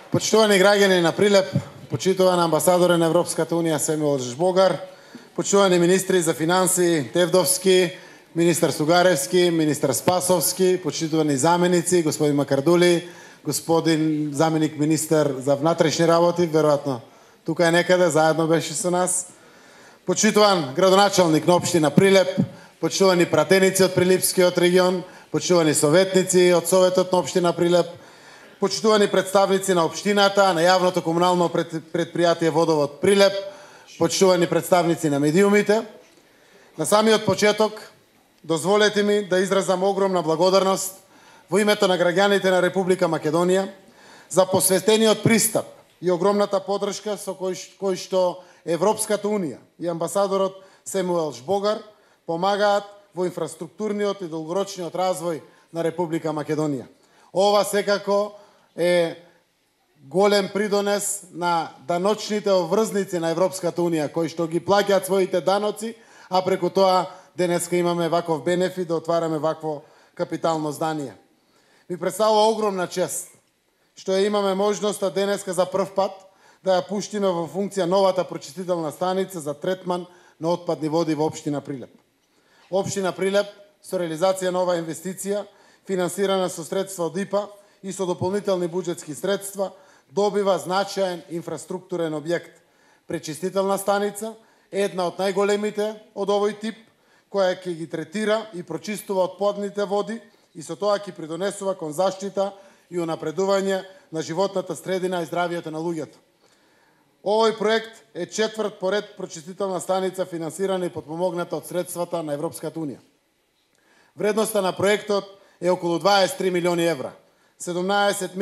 Почитувани граѓани на Прилеп, почитуван амбасадоре на Европската Унија Семуел Жбогар, почитувани министри за финансии Тевдовски, министар Сугаревски, министар Спасовски, почитувани заменици, господин Макардули, господин заменик министар за внатрешни работи, веројатно тука е некаде, заедно беше со нас. Почитуван градоначалник на општина Прилеп, почитувани пратеници од Прилипскиот регион, почитувани советници од Советот на општина Прилеп, почитувани представници на општината, на јавното комунално предпријатие Водовод Прилеп, почитувани представници на медиумите. На самиот почеток, дозволете ми да изразам огромна благодарност во името на граѓаните на Република Македонија за посветениот пристап и огромната поддршка со кој што Европската Унија и амбасадорот Семуел Жбогар помагаат во инфраструктурниот и долгорочниот развој на Република Македонија. Ова секако е голем придонес на даночните обврзници на Европската Унија, кои што ги плаќаат своите даноци, а преку тоа денеска имаме ваков бенефит да отвараме вакво капитално здание. Ми представува огромна чест што имаме можноста денеска за прв пат да ја пуштиме во функција новата прочистителна станица за третман на отпадни води во општина Прилеп. Општина Прилеп со реализација на оваа инвестиција, финансирана со средства од ИПА и со дополнителни буџетски средства, добива значаен инфраструктурен објект, пречистителна станица, една од најголемите од овој тип, која ќе ги третира и прочистува отпадните води и со тоа ќе придонесува кон заштита и унапредување на животната средина и здравието на луѓето. Овој проект е четврт поред прочистителна станица финансирана и подпомогната од средствата на Европската Унија. Вредноста на проектот е околу 23 милиони евра. 17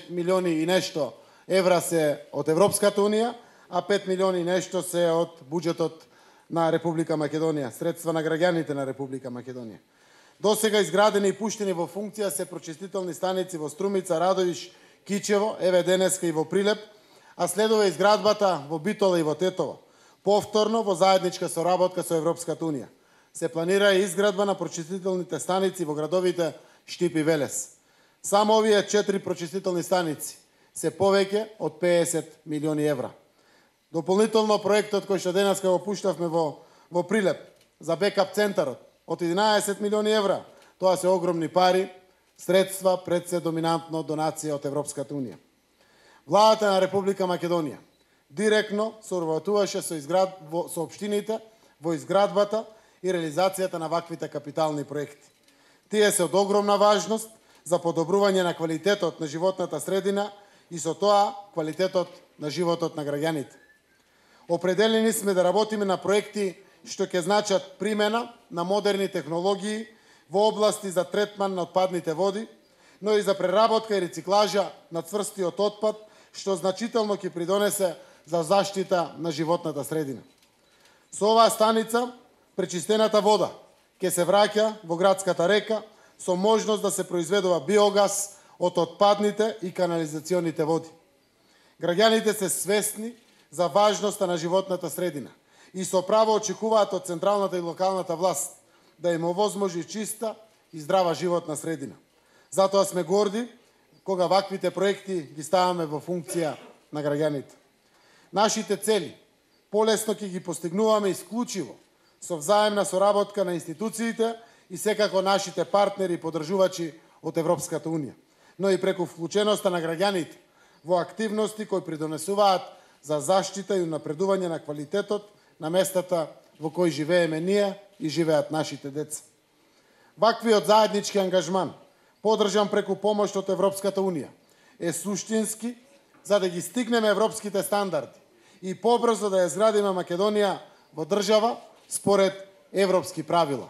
милиони и нешто евра се од Европската Унија, а 5 милиони и нешто се од буџетот на Република Македонија, средства на граѓаните на Република Македонија. Досега изградени и пуштени во функција се прочистителни станици во Струмица, Радовиш, Кичево, еве денеска и во Прилеп, а следува изградбата во Битола и во Тетово. Повторно во заедничка соработка со Европската Унија. Се планира и изградба на прочистителните станици во градовите Штип и Велес. Само овие 4 прочистителни станици се повеќе од 50 милиони евра. Дополнително проектот кој што денеска го пуштавме во Прилеп за бекап центарот од 11 милиони евра. Тоа се огромни пари, средства пред се доминантно донација од Европската Унија. Владата на Република Македонија директно соработуваше со општините во изградбата и реализацијата на ваквите капитални проекти. Тие се од огромна важност за подобрување на квалитетот на животната средина и со тоа квалитетот на животот на граѓаните. Определени сме да работиме на проекти што ќе значат примена на модерни технологии во области за третман на отпадните води, но и за преработка и рециклажа на цврстиот отпад, што значително ќе придонесе за заштита на животната средина. Со оваа станица, пречистената вода ќе се враќа во градската река со можност да се произведува биогаз од отпадните и канализационите води. Граѓаните се свесни за важноста на животната средина и со право очекуваат од централната и локалната власт да им овозможи чиста и здрава животна средина. Затоа сме горди кога ваквите проекти ги ставаме во функција на граѓаните. Нашите цели полесно ќе ги постигнуваме исклучиво со взаемна соработка на институциите и секако нашите партнери и поддржувачи од Европската Унија, но и преку вклученоста на граѓаните во активности кои придонесуваат за заштита и напредување на квалитетот на местата во кои живееме ние и живеат нашите деца. Ваквиот заеднички ангажман, поддржан преку помош од Европската Унија, е суштински за да ги стигнеме европските стандарди и побрзо да ја изградиме Македонија во држава според европски правила.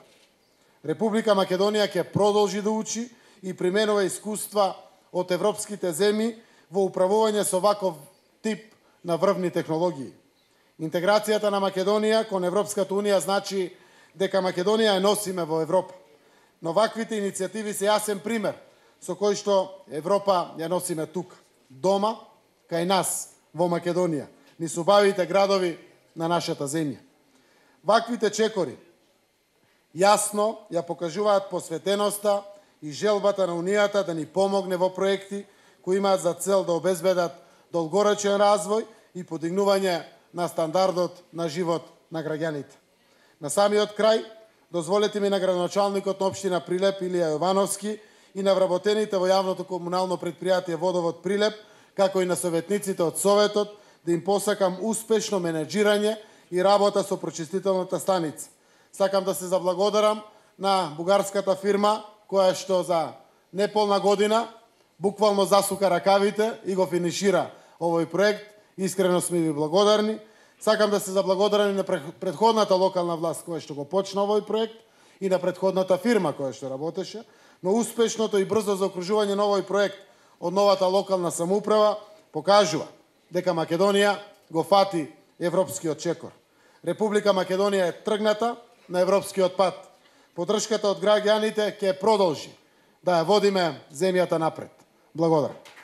Република Македонија ќе продолжи да учи и применува искуства од европските земји во управување со ваков тип на врвни технологии. Интеграцијата на Македонија кон Европската Унија значи дека Македонија ја носиме во Европа. Но ваквите иницијативи се јасен пример со кој што Европа ја носиме тука, дома, кај нас, во Македонија, низ убавите градови на нашата земја. Ваквите чекори јасно ја покажуваат посветеноста и желбата на Унијата да ни помогне во проекти кои имаат за цел да обезбедат долгорочен развој и подигнување на стандардот на живот на граѓаните. На самиот крај, дозволете ми на градоначалникот на општина Прилеп Илија Јовановски и на вработените во јавното комунално предпријатие Водовод Прилеп, како и на советниците од Советот, да им посакам успешно менеджирање и работа со прочистителната станица. Сакам да се заблагодарам на бугарската фирма, која што за неполна година буквално засука ракавите и го финишира овој проект. Искрено сме ви благодарни. Сакам да се заблагодарам и на претходната локална власт која што го почна овој проект и на претходната фирма која што работеше, но успешното и брзо заокружување на овој проект од новата локална самоуправа покажува дека Македонија го фати европскиот чекор. Република Македонија е тргната на европскиот пат. Поддршката од граѓаните ќе продолжи да ја водиме земјата напред. Благодарам.